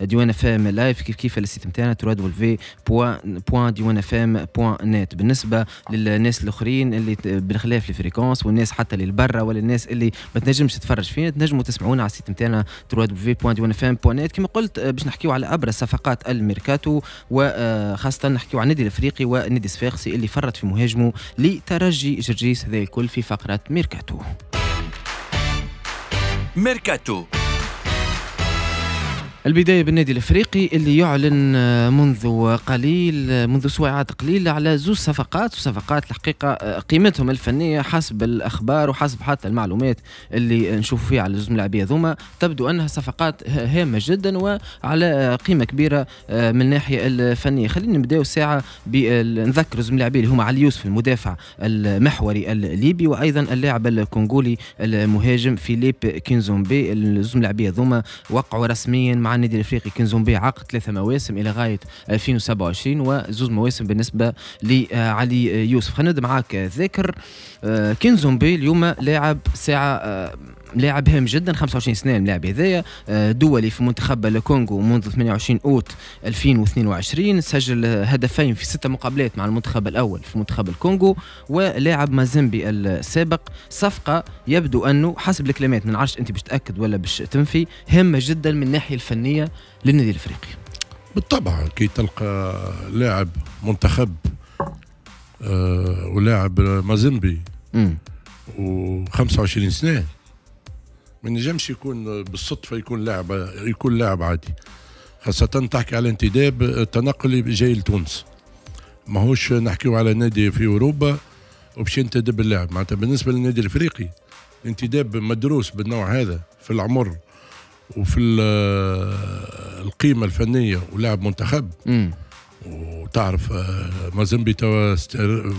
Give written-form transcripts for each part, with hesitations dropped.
ديوان اف ام live، كيف كيف ال site نتاعنا www.diwanfm.net. بالنسبة للناس الاخرين اللي بالخلاف ال fréquence والناس حتى اللي برا ولا الناس اللي ما تنجمش تتفرج فينا، تنجموا تسمعونا على ال site نتاعنا www.diwanfm.net. كما قلت باش نحكيو على ابرز صفقات الميركاتو، وخاصة نحكيو على النادي الافريقي والنادي الصفاقسي اللي فرط في مهاجمه لترجي جرجيس. هذا الكل في فقره ميركاتو. ميركاتو. البداية بالنادي الافريقي اللي يعلن منذ قليل، منذ ساعات قليلة، على زوج صفقات، وصفقات الحقيقة قيمتهم الفنية حسب الأخبار وحسب حتى المعلومات اللي نشوف فيها على زوج ملاعبية ذوما تبدو أنها صفقات هامة جدا وعلى قيمة كبيرة من الناحية الفنية. خلينا نبداو ساعة نذكر زوج ملاعبية اللي هما علي يوسف المدافع المحوري الليبي، وأيضا اللاعب الكونغولي المهاجم فيليب كينزومبي. الزوج ملاعبية ذوما وقعوا رسميا مع النادي الافريقي. كينزومبي عقد 3 مواسم الى غاية 2027 وزوز مواسم بالنسبة لعلي يوسف. خلينا نبدا معاك ذاكر. كينزومبي اليوم لاعب ساعة لاعب هام جدا، 25 سنة اللاعب هذايا، دولي في منتخب الكونغو منذ 28 اوت 2022، سجل هدفين في 6 مقابلات مع المنتخب الاول في منتخب الكونغو، ولاعب مازيمبي السابق. صفقة يبدو انه حسب الكلمات، ما نعرفش انت باش تاكد ولا باش تنفي، هامة جدا من الناحية الفنية للنادي الافريقي. بالطبع كي تلقى لاعب منتخب ولاعب مازيمبي و25 سنة، ما نجمش يكون بالصدفة يكون لاعب عادي، خاصة تحكي على انتداب تنقلي جاي لتونس، ماهوش نحكيو على نادي في اوروبا وباش ينتدب اللاعب. معناتها بالنسبة للنادي الافريقي انتداب مدروس بالنوع هذا في العمر وفي القيمة الفنية ولاعب منتخب. وتعرف مازيمبي توا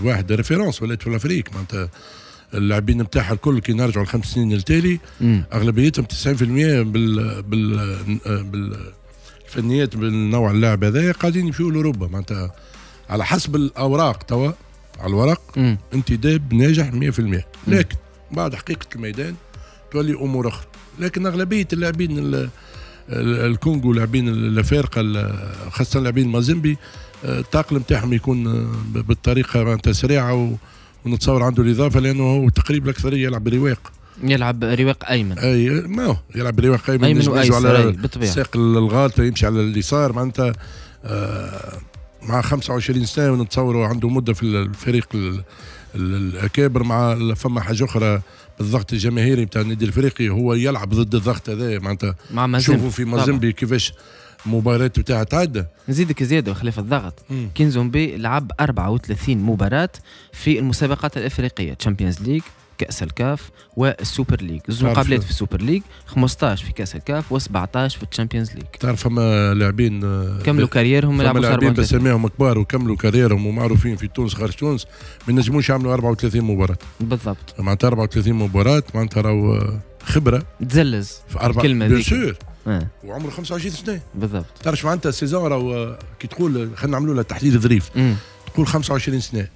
واحد référence ولات في l'Afrique، معناتها اللاعبين نتاعها الكل كي نرجعوا ل5 سنين التالي اغلبيتهم 90% بالفنيات بالنوع اللاعب هذايا قاعدين يمشيوا لاوروبا. معناتها على حسب الاوراق توا على الورق انتداب ناجح 100%، لكن بعد حقيقة الميدان تولي امور اخرى. لكن اغلبية اللاعبين الكونغو، لاعبين الافارقة، خاصة لاعبين مازيمبي، التاقلم نتاعهم يكون بالطريقة معناتها سريعة، ونتصور عنده الاضافة لانه هو تقريبا الاكثرية يلعب برواق، يلعب رواق ايمن. اي ما هو يلعب برواق ايمن وايسر بالطبيعة، ساق الغالطه يمشي على اليسار. معناتها مع 25 سنة ونتصوروا عنده مده في الفريق الاكابر. مع فما حاجة اخرى بالضغط الجماهيري نتاع النادي الافريقي، هو يلعب ضد الضغط هذا. معناتها شوفوا في مازيمبي كيفاش المباراة بتاعها تعدى. نزيدك زيادة وخلاف الضغط، كينزومبي لعب 34 مباراة في المسابقات الافريقية، Champions League، كأس الكاف وال Super League. زوج مقابلات في ال Super League، 15 في كأس الكاف و17 في ال Champions League. تعرف فما لاعبين كملوا carrière هم، لعبوا لاعبين بسميهم كبار وكملوا carrière هم ومعروفين في تونس خارج تونس، ما نجموش يعملوا 34 مباراة. بالضبط. معناتها 34 مباراة معناتها راهو خبرة. تزلز في الكلمة bien sûr. وعمره 25 سنة. بالضبط. تعرف معناتها ال saison راهو كي تقول خلينا نعملوا لها تحليل ظريف. تقول 25 سنة.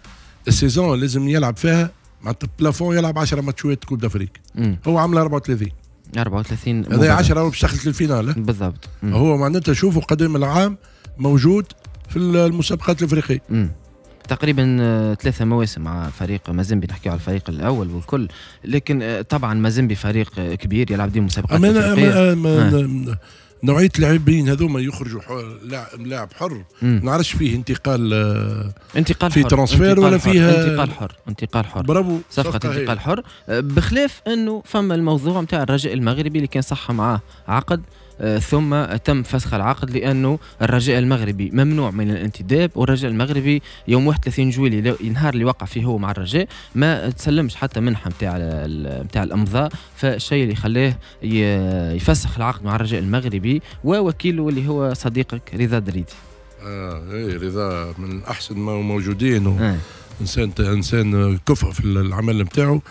ال saison لازم يلعب فيها معناتها plafond يلعب 10 ماتشات Coupe d'Afrique. هو عامل 34 هذا 10 باش دخلت لل finale. بالضبط. هو معناتها شوفوا قدام العام موجود في المسابقات الافريقية. تقريبا 3 مواسم مع فريق مازيمبي، نحكيو على الفريق الاول والكل، لكن طبعا مازيمبي فريق كبير يلعب ديما مسابقات افريقية. نوعية اللاعبين هذوما يخرجوا لاعب حر، ما نعرفش فيه انتقال، انتقال في transfert ولا فيها انتقال حر. انتقال حر، برافو، صفقة انتقال حر. بخلاف انه فما الموضوع نتاع الرجاء المغربي اللي كان صح معاه عقد، ثم تم فسخ العقد لانه الرجاء المغربي ممنوع من الانتداب، والرجاء المغربي يوم 31 جويلية النهار اللي وقع فيه هو مع الرجاء ما تسلمش حتى منحه نتاع الامضاء، فالشيء اللي خلاه يفسخ العقد مع الرجاء المغربي ووكيله اللي هو صديقك رضا دريدي. اي رضا من احسن ما موجودين، انسان كفء في العمل نتاعو.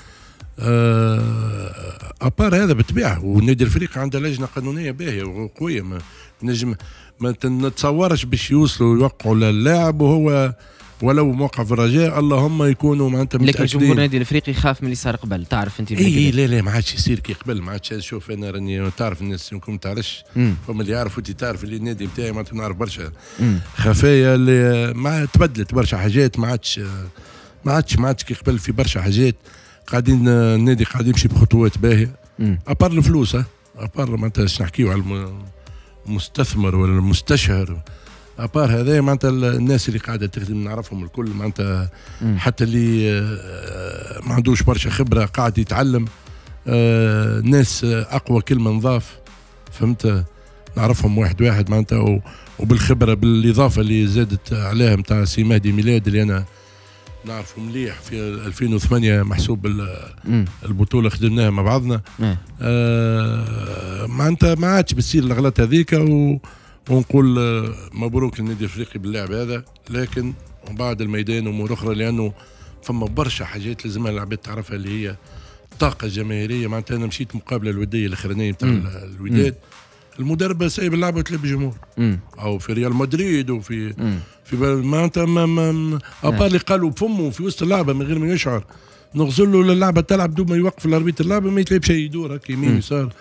à part هذا بالطبيعة، والنادي الافريقي عنده لجنة قانونية باهيه وقويه، ما نجم ما نتصورش باش يوصلوا يوقعوا للاعب وهو ولو موقع في الرجاء اللهم يكونوا معناتها متاكدين. لكن جمهور النادي الافريقي خاف من اللي صار قبل، تعرف انت. اي لا لا ما عادش يصير كي قبل، ما عادش. شوف انا راني تعرف الناس يمكن ما تعرفش، فما اللي يعرف وانت تعرف اللي النادي نتاعي معناتها نعرف برشا خفايا اللي ما تبدلت برشا حاجات، ما عادش كي قبل في برشا حاجات. قاعدين النادي قاعد يمشي بخطوات باهيه à part الفلوس، à part معناتها باش نحكيو على المستثمر ولا المستشهر، à part هذا معناتها الناس اللي قاعدة تخدم نعرفهم الكل معناتها، حتى اللي ما عندوش برشا خبره قاعد يتعلم. ناس اقوى كلمة نظاف، فهمت، نعرفهم واحد واحد معناتها، وبالخبره بالاضافة اللي زادت عليها نتاع سي مهدي ميلاد اللي انا نعرفه مليح في 2008 محسوب البطولة خدمناها مع بعضنا. معناتها ما عادش بتصير الاغلاط هذيك، ونقول مبروك للنادي الافريقي باللاعب هذا، لكن ومن بعد الميدان امور اخرى، لانه فما برشا حاجات لازمها العباد تعرفها اللي هي الطاقة الجماهيرية. معناتها انا مشيت مقابله الودية الاخرانية نتاع الوداد، المدرب سايب اللعبة وتلعب الجمهور، او في ريال مدريد وفي في معناتها à part اللي قالوا بفمه في وسط اللعبة من غير ما يشعر، نغزل له اللعبة تلعب دوب ما يوقف ال arbitre اللعبة ما يتلعب شيء، يدور هكا يمين يسار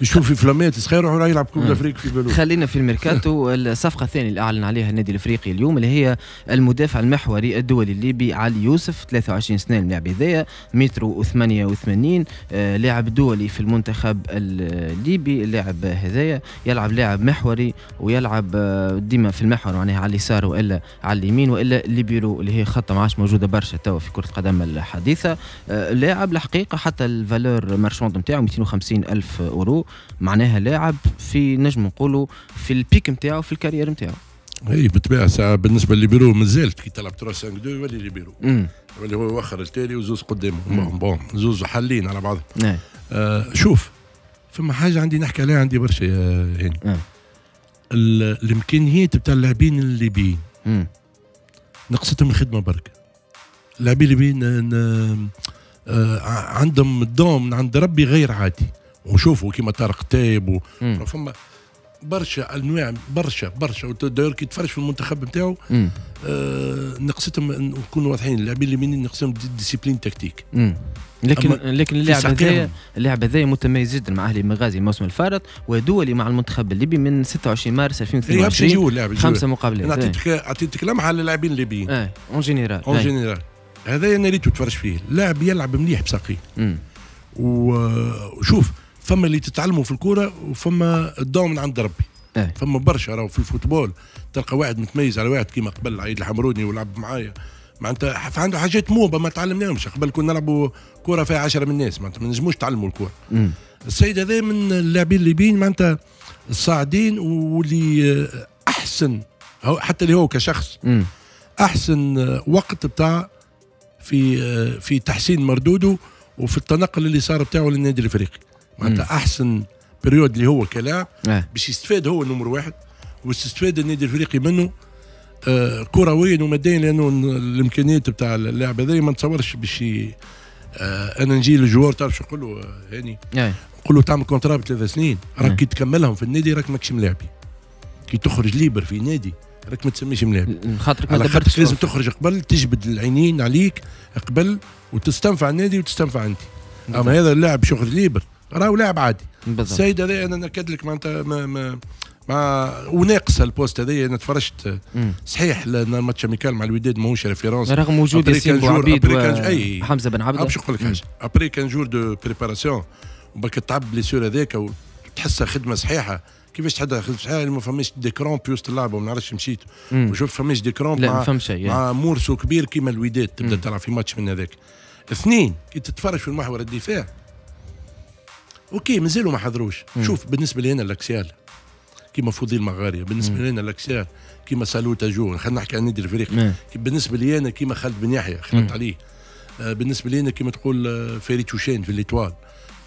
يشوف في فلامات صغير وراح يلعب Coupe d'Afrique في بالو. خلينا في الميركاتو. الصفقة الثانية اللي اعلن عليها النادي الافريقي اليوم اللي هي المدافع المحوري الدولي الليبي علي يوسف، 23 سنة اللاعب هذايا، متر و88، لاعب دولي في المنتخب الليبي. اللاعب هذايا يلعب لاعب محوري ويلعب ديما في المحور معناها على اليسار والا على اليمين والا ليبيرو اللي هي خطه ما عادش موجودة برشا توا في كره القدم الحديثة. لاعب الحقيقة حتى ال valeur marchande نتاعو 250 ألف أورو، معناها لاعب في نجم نقولوا في ال pic نتاعو في ال carrière نتاعو. اي بالطبيعة ساعة بالنسبة لليبيرو مازالت كي تلعب 3 5 2 يولي ليبيرو، يولي هو يوخر التالي وزوز قدامه، bon زوز حالين على بعض. شوف فما حاجة عندي نحكي عليها عندي برشا يا هاني. الامكانيات بتاع اللاعبين الليبيين نقصتهم الخدمة برك. اللاعبين الليبيين عندهم ال don من عند ربي غير عادي، وشوفوا كيما طارق تايب فما برشا انواع برشا برشا. d'ailleurs كي تفرج في المنتخب نتاعو نقصتهم، نكونوا واضحين، اللاعبين الليبيين نقصتهم discipline tactique. لكن اللاعب هذايا متميز جدا مع اهلي بنغازي الموسم الفارط ودولي مع المنتخب الليبي من 26 مارس 2022، 5 مقابلات. اعطيتك لمحه على اللاعبين الليبيين en général. en général هذا انا ريتو تفرج فيه، لاعب يلعب مليح بساقيه. وشوف فما اللي تتعلموا في الكورة وفما ال don من عند ربي. فما برشا راهو في ال football تلقى واحد متميز على واحد كيما قبل عيد الحمروني ولعب معايا، معناتها عنده حاجات موبه ما تعلمناهمش قبل. كنا نلعبوا كورة فيها 10 من الناس، معناتها ما نجموش نتعلموا الكورة. السيد هذا من اللاعبين الليبيين معناتها الصاعدين واللي احسن، حتى اللي هو كشخص احسن وقت بتاع في تحسين مردودة وفي التنقل اللي صار بتاعه للنادي الافريقي. معناتها احسن période اللي هو كلاعب باش يستفاد هو نمر واحد ويستفاد النادي الافريقي منه كرويا وماديا، لانه الامكانيات بتاع اللاعب هذا ما نتصورش باش انا نجي لل joueur تعرف شو نقول له هاني؟ نقول له تعمل contrat ب3 سنين، راك كي تكملهم في النادي راك ماكش ملاعبي، كي تخرج libre في نادي راك ما تسميش ملاعبي، خاطرك ما دبرتش. لازم تخرج قبل، تجبد العينين عليك قبل وتستنفع النادي وتستنفع انت. اما هذا اللاعب باش يخرج libre راهو لاعب عادي. السيد هذا انا ناكد لك معناتها ما وناقص ال poste هذايا. انا تفرجت صحيح لان ال match amical مع الوداد ماهوش référence رغم وجود ياسين بوعبيد وحمزة بن عبده. باش نقول لك حاجة، après quinze jours de préparation وباك تعب blessure هذاك وتحسها خدمة صحيحه. كيفاش تحدها خدمة صحيحه؟ ما فماش des crampes في وسط اللعبة، وما نعرفش مشيت وشوف فماش des crampes مع morceau كبير كيما الوداد تبدا تلعب في ماتش من هذاك. اثنين، كي تتفرج في المحور الدفاع OK مازالوا ما حضروش. شوف بالنسبة لي انا l'axial كيما فضيل مغاريه، بالنسبة لنا l'axial كيما سالوتا جو، خلينا نحكي عن النادي الافريقي، بالنسبة لي انا كيما خالد بن يحيى خلطت عليه، بالنسبة لي انا كيما تقول فريد شوشان في l'Étoile،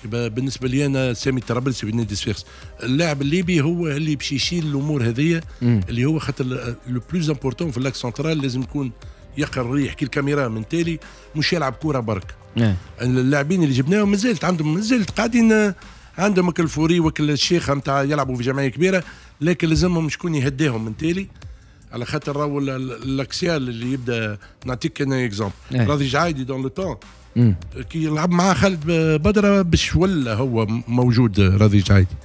بالنسبة لي انا سامي الطرابلسي في النادي الصفاقسي. اللاعب الليبي هو اللي باش يشيل الامور هذيا، اللي هو خاطر le plus important في l'axe central لازم يكون يقرا الريح كي الكاميرا من تالي، مش يلعب كورة برك. اللاعبين اللي جبناهم مازالت عندهم، مازالت قاعدين عندهم الفوري وكل الشيخه نتاع يلعبوا في جمعية كبيرة، لكن لازمهم شكون يهديهم من تالي. على خاطر راهو l'axial اللي يبدا، نعطيك انا exemple، راضي جعايدي dans le temps كي يلعب مع خالد بدره باش ولا هو موجود راضي جعايدي،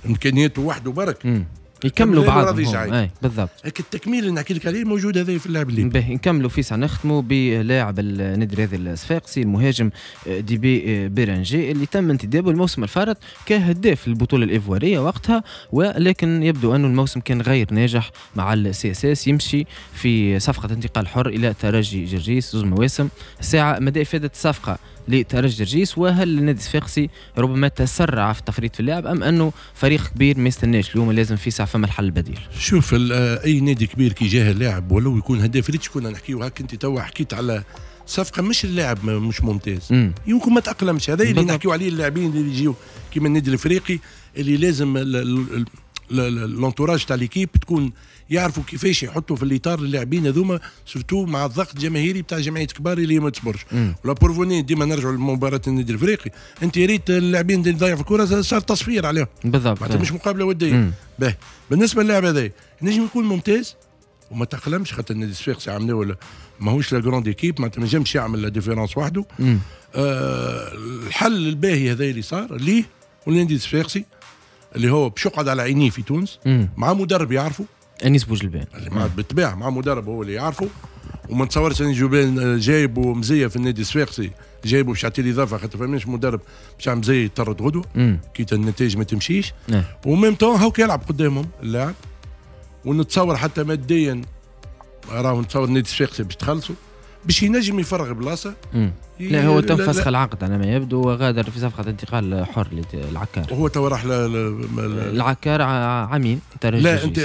امكانياته وحده برك. يكملوا بعضهم. بالضبط. لكن التكميل اللي نحكي لك عليه موجود هذا في اللاعب الليبي. باهي، نكملوا فيسع، نختموا بلاعب النادي الرياضي الصفاقسي المهاجم ديبي بيرانجي اللي تم انتدابه الموسم الفارط كهداف البطولة الايفواريه وقتها، ولكن يبدو انه الموسم كان غير ناجح مع ال CSS، يمشي في صفقة انتقال حر الى ترجي جرجيس زوج مواسم. ساعة مدى افاده الصفقة لترجي جرجيس، وهل النادي الصفاقسي ربما تسرع في التفريط في اللاعب ام انه فريق كبير ما يستناش اليوم لازم فيسع فما الحل البديل؟ شوف، اي نادي كبير كي جاه اللاعب ولو يكون هداف، ريت شكون نحكيو هاك انت توا حكيت على صفقة مش اللاعب مش ممتاز، يمكن ما تاقلمش. هذا اللي نحكيو عليه اللاعبين اللي يجيو كيما النادي الافريقي اللي لازم l'entourage تاع l'équipe تكون يعرفوا كيفاش يحطوا في الاطار اللاعبين هذوما، surtout مع الضغط الجماهيري بتاع جمعية كبار اللي ما تصبرش. و la preuve ديما نرجعوا لمباراة النادي الافريقي، انت ريت اللاعبين اللي ضيعوا في الكره صار تصفير عليهم. معناتها مش مقابله وديه. باهي، بالنسبة للاعب هذا نجم يكون ممتاز وما تأقلمش، خاطر النادي الصفاقسي عملوا ماهوش la grande équipe، معناتها ما نجمش يعمل la différence وحده. الحل الباهي هذا اللي صار ليه والنادي الصفاقسي اللي هو باش يقعد على عينيه في تونس مع مدرب يعرفه، انيس بوجلبان، مع بالطبيعة مع مدرب هو اللي يعرفه، وما نتصورش انيس بوجلبان جايبه مزية في النادي الصفاقسي، جايبه باش يعطي الاضافة، خاطر فماش مدرب باش يعمل مزية يطرد غدوه كي النتائج ما تمشيش. و même temps هاو يلعب قدامهم اللاعب، ونتصور حتى ماديا راهو نتصور النادي الصفاقسي باش تخلصوا باش ينجم يفرغ بلاصة. لا هو تم فسخ العقد على ما يبدو وغادر في صفقة انتقال حر للعكار. هو تو راح العكار عامين. لا انت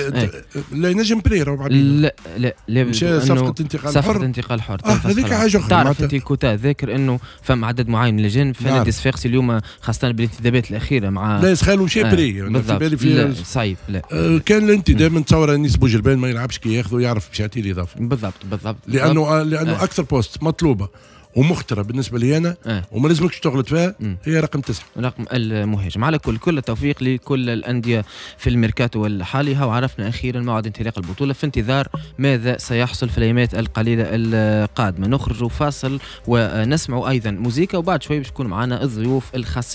لا ينجم prêt. لا لا لا، مش صفقة انتقال حر، صفقة انتقال حر. هذيك حاجة اخرى. تعرف انت الكوتا ذاكر انه فما عدد معين من اللجان في نادي الصفاقسي اليوم، خاصة بالانتدابات الاخيرة مع لا يسخالوا شي prêt. في بالي في صعيب. لا كان الانتداب نتصور انيس بوجلبان ما يلعبش كي ياخذه يعرف باش يعطي الاضافة. بالضبط بالضبط، لانه اكثر poste مطلوبه ومخترة بالنسبة لي أنا وما لازمكش تغلط فيها هي رقم 9، رقم المهاجم. على كل التوفيق لكل الأندية في الميركاتو الحالي، وعرفنا أخيرا موعد انطلاق البطولة، في انتظار ماذا سيحصل في الأيامات القليلة القادمة. نخرج فاصل ونسمع أيضا موزيكا، وبعد شوي باش يكون معنا الضيوف الخاصين.